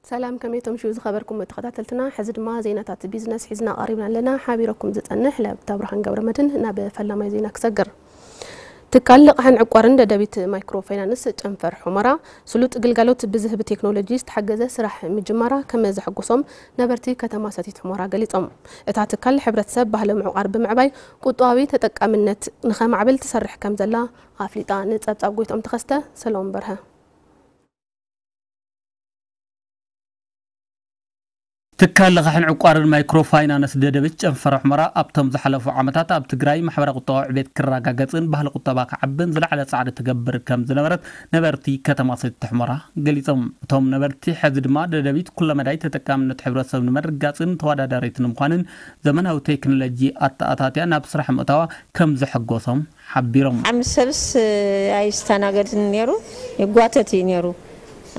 ሰላም፣ ከመይ ተምሽዩ ዝኸበርኩም ተኸታተልትና? ሕዚ ድማ ዜናታት ቢዝነስ ሒዝና ቀሪብና ኣለና። ሓቢረኩም ዝጸንሕ ለብታ ብርሃን ገብረመድህን። ናብ ፈላማይ ዜና ክሰግር። ትካል ልቓሕን ዕቋርን ደደቢት ማይክሮ ፋይናንስ ጨንፈር ሑመራ፣ ስሉጥ ግልጋሎት ብዝህብ ቴክኖሎጂ ዝተሓገዘ ስራሕ ምጅማራ ከም ዘሐጎሶም ነበርቲ ከተማ ሰቲት ሑመራ ገሊጾም። እታ ትካል ሕብረተሰብ ባህሊ ምዕቋር ብምዕባይ ቁጠባዊ ተጠቃምነት ንኸማዕብል ትሰርሕ ከም ዘላ ኣፍሊጣ። ንጸብጻብ ጎይትኦም ተኸስተ፣ ሰለሞን በርሀ። ትካል ልቓሕን ዕቋርን ማይክሮ ፋይናንስ ደደቢት ጨንፈር ሑመራ ኣብቶም ዝሓለፉ ዓመታት ኣብ ትግራይ ማሕበራዊ ቁጠባዊ ዕቤት ክረጋገጽን ባህሊ ቁጠባ ክዓብን ዝለዓለ ጻዕሪ ትገብር ከም ዝነበረት ነበርቲ ከተማ ሰቲት ሑመራ ገሊጾም። እቶም ነበርቲ፣ ሕዚ ድማ ደደቢት ኩለመዳይ ተጠቃምነት ሕብረተሰብ ንምርግጋጽን ተወዳዳሪት ንምዃንን ዘመናዊ ቴክኖሎጂ ኣተኣታትያ ናብ ስራሕ ምእታዋ ከም ዘሐጎሶም ሓቢሮም። ዓሚ ሰብስ ኣይስተናገድን ነይሩ፣ ይጓተት እዩ ነይሩ።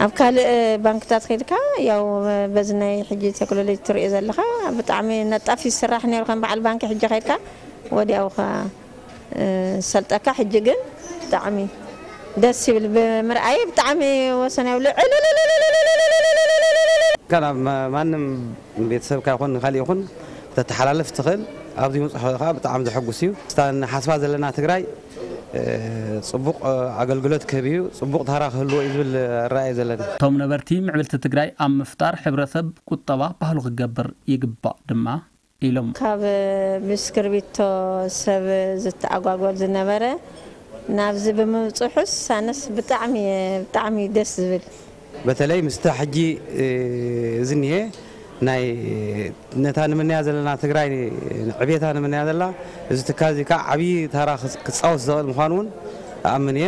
ኣብ ካልእ ባንክታት ከይድካ፣ ያው በዚ ናይ ሕጂ ቴክኖሎጂ ትሪኦ ዘለኻ፣ ብጣዕሚ ነጣፍ ይስራሕ ነይሩ። ከም በዓል ባንኪ ሕጂ ከይድካ ወዲያው ኸ ሰልጠካ። ሕጂ ግን ብጣዕሚ ደስ ይብል፣ ብምርኣይ ብጣዕሚ ወሰን የብሉ። ካብ ማንም ቤተሰብካ ይኹን ንኻሊእ ይኹን ተተሓላልፍ ትኽእል። ኣብዚ ምብፅሑ ከዓ ብጣዕሚ ዘሐጉስ እዩ። ስታ ንሓስባ ዘለና ትግራይ፣ እ፣ ፅቡቕ፣ እ፣ ኣገልግሎት ክህብ እዩ፣ ፅቡቕ ታራ ክህልዎ እዩ ዝብል ራእይ ዘለና። እቶም ነበርቲ፣ ምዕብልቲ ትግራይ ኣብ ምፍጣር ሕብረተሰብ ቁጠባ ባህሉ ክገብር ይግባእ ድማ ኢሎም። ካብ ብስክርቢቶ ሰብ ዝተኣጓጎል ዝነበረ ናብዚ ብምብፅሑስ ኣነስ ብጣዕሚ፣ ብጣዕሚ ደስ ዝብል። በተለይ ምስታ ሕጂ፣ እ፣ ዝኒሄ ናይ ነታ ንምንያ ዘለና ትግራይ፣ ዕቤታ ንምንያ ዘላ፣ እዚ ትካል እዚ ከዓ ዓብዪ ታራ ክፅ-፣ ክፃወት ዝኽእል ምዃኑ እውን እኣምን እየ።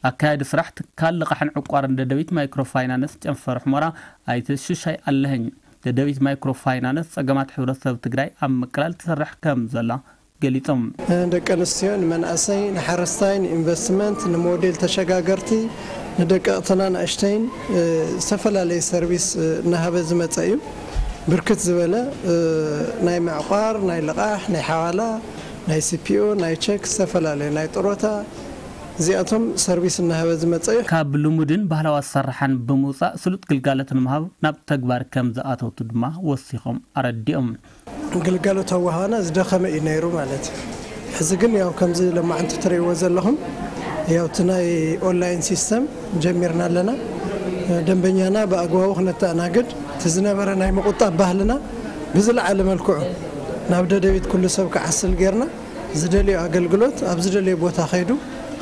ኣካያዲ ስራሕ ትካል ልቓሕን ዕቋርን ደደቢት ማይክሮ ፋይናንስ ጨንፈር ሑመራ ኣይተ ሽሻይ ኣለኸኝ፣ ደደቢት ማይክሮ ፋይናንስ ጸገማት ሕብረተሰብ ትግራይ ኣብ ምቅላል ትሰርሕ ከም ዘላ ገሊጾም። ንደቂ ኣንስትዮ፣ ንመንእሰይ፣ ንሓረስታይ፣ ንኢንቨስትመንት፣ ንሞዴል ተሸጋገርቲ፣ ንደቀቕትን ኣናእሽተይን፣ እ፣ ዝተፈላለየ ሰርቪስ፣ እ፣ እናሃበ ዝመጸ እዩ። ብርክት ዝበለ፣ እ፣ ናይ ምዕቋር፣ ናይ ልቓሕ፣ ናይ ሓዋላ፣ ናይ ሲ ፒ ኦ፣ ናይ ቸክ፣ ዝተፈላለየ ናይ ጥሮታ፣ እዚኣቶም ሰርቪስ እናሃበ ዝመጸ እዩ። ካብ ልሙድን ባህላዊ ኣሰራርሓን ብምውጻእ ስሉጥ ግልጋሎት ንምሃብ ናብ ተግባር ከም ዝኣተወቱ ድማ ወሲኾም ኣረዲኦም። ግልጋሎት ኣወሃህባና ዝደኸመ እዩ ነይሩ ማለት እዩ። ሕዚ ግን ያው ከምዚ ለማዕንቲ ትርእይዎ ዘለኹም፣ ያው እቲ ናይ ኦንላይን ሲስተም ጀሚርና ኣለና። ደንበኛና ብኣግባቡ ክነተኣናግድ፣ እቲ ዝነበረ ናይ ምቁጣብ ባህልና ብዝለዓለ መልክዑ ናብ ደደቢት ኩሉ ሰብ ክዓስል ጌርና፣ ዝደልዮ ኣገልግሎት ኣብ ዝደልዮ ቦታ ከይዱ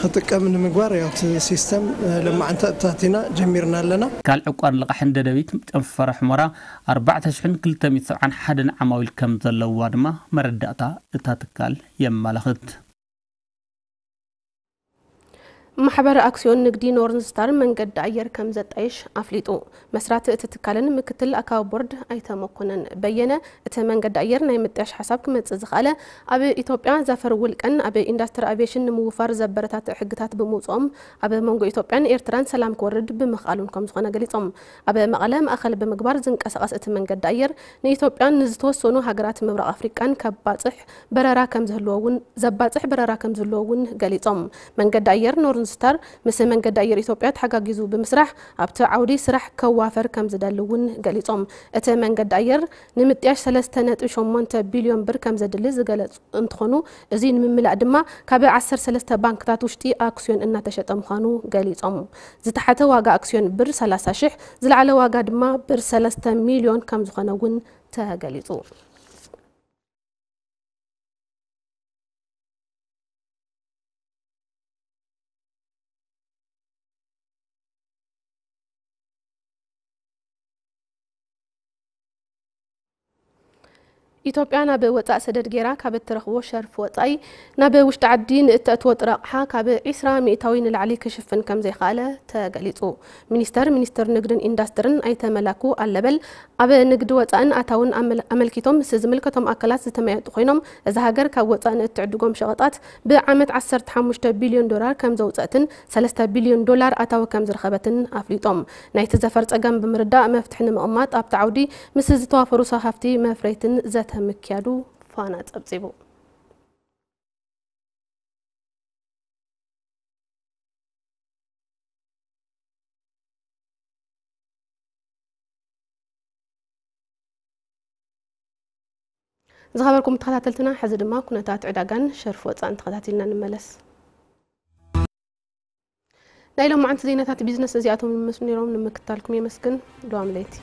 ክጥቀም ንምግባር ያው እቲ ሲስተም፣ እ፣ ለማዕንቲ ኣእታቲና ጀሚርና ኣለና። ትካል ዕቋር ልቓሕን ደደቢት ጨንፈረ ሑመራ ኣርባዕተ ሽሕን ክልተ ሚእትን ሰብዓን ሓደን ዓማዊል ከም ዘለውዋ ድማ መረዳእታ እታ ትካል የመላኽት። ማሕበር ኣክስዮን ንግዲ ኖርን ስታር መንገዲ ኣየር ከም ዘጣይሽ ኣፍሊጡ። መስራቲ እቲ ትካልን ምክትል ኣካቢ ቦርድ ኣይተ መኮነን በየነ፣ እቲ መንገዲ ኣየር ናይ ምጥያሽ ሓሳብ ክመጽእ ዝኸኣለ ኣብ ኢትዮጵያ ዘፈር ውልቀን ኣብ ኢንዳስትሪ ኣቪየሽን ንምውፋር ዘበረታትዕ ሕግታት ብምውጽኦም ኣብ መንጎ ኢትዮጵያን ኤርትራን ሰላም ክወርድ ብምኽኣሉን ከም ዝኾነ ገሊጾም። ኣብ መቐለ ማእኸል ብምግባር ዝንቀሳቐስ እቲ መንገዲ ኣየር ንኢትዮጵያን ንዝተወሰኑ ሃገራት ምብራቕ ኣፍሪቃን ከባጽሕ በረራ ከም ዝህልዎ እውን፣ ዘባጽሕ በረራ ከም ዝህልዎ እውን ገሊጾም። መንገዲ ኣየር ኖርን ስታር ምስ መንገዲ ኣየር ኢትዮጵያ ተሓጋጊዙ ብምስራሕ ኣብቲ ዓውዲ ስራሕ ከዋፈር ከም ዝደሊ እውን ገሊጾም። እቲ መንገዲ ኣየር ንምጥያሽ ሰለስተ ነጥቢ ሸሞንተ ቢልዮን ብር ከም ዘድሊ ዝገለጹ እንትኾኑ፣ እዚ ንምምላእ ድማ ካብ ዓሰርተ ሰለስተ ባንክታት ውሽጢ ኣክስዮን እናተሸጠ ምዃኑ ገሊጾም። ዝተሓተ ዋጋ ኣክስዮን ብር ሰላሳ ሽሕ፣ ዝለዓለ ዋጋ ድማ ብር ሰለስተ ሚልዮን ከም ዝኾነ እውን ተገሊጹ። ኢትዮጵያ ናብ ወጻእ ሰደድ ጌራ ካብ እትረኽቦ ሸርፊ ወጻኢ ናብ ውሽጢ ዓዲ ንእተእትዎ ጥረ ኣቕሓ ካብ ዒስራ ሚእታዊ ንላዕሊ ክሽፍን ከም ዘይኸኣለ ተገሊጹ። ሚኒስተር ሚኒስትር ንግድን ኢንዳስትርን ኣይተ መላኩ ኣለበል ኣብ ንግዲ ወጻእን ኣታውን ኣመል-፣ ኣመልኪቶም ምስ ዝምልከቶም ኣካላት ዝተመያየጡ ኮይኖም፣ እዛ ሃገር ካብ ወጻእ ንእትዕድጎም ሸቐጣት ብዓመት ዓሰርተ ሓሙሽተ ቢልዮን ዶላር ከም ዘውጸእትን ሰለስተ ቢልዮን ዶላር ኣታዊ ከም ዝረኸበትን ኣፍሊጦም። ናይቲ ዘፈር ጸገም ብምርዳእ መፍትሒ ንምቕማጥ ኣብቲ ዓውዲ ምስ ዝተዋፈሩ ሰብ ሃፍቲ መፍረይትን ዘተ ምክያዱ ፋና ጸብጺቡ። ዝኸበርኩም ተኸታተልትና፣ ሕዚ ድማ ኩነታት ዕዳጋን ሸርፊ ወፃእን ተኸታቲልና ንመለስ። ናይ ሎማዓንቲ ዜናታት ቢዝነስ እዚኣቶም ይመስሉ ነይሮም። ንምክትታልኩም የመስግን። ልዋም ለይቲ።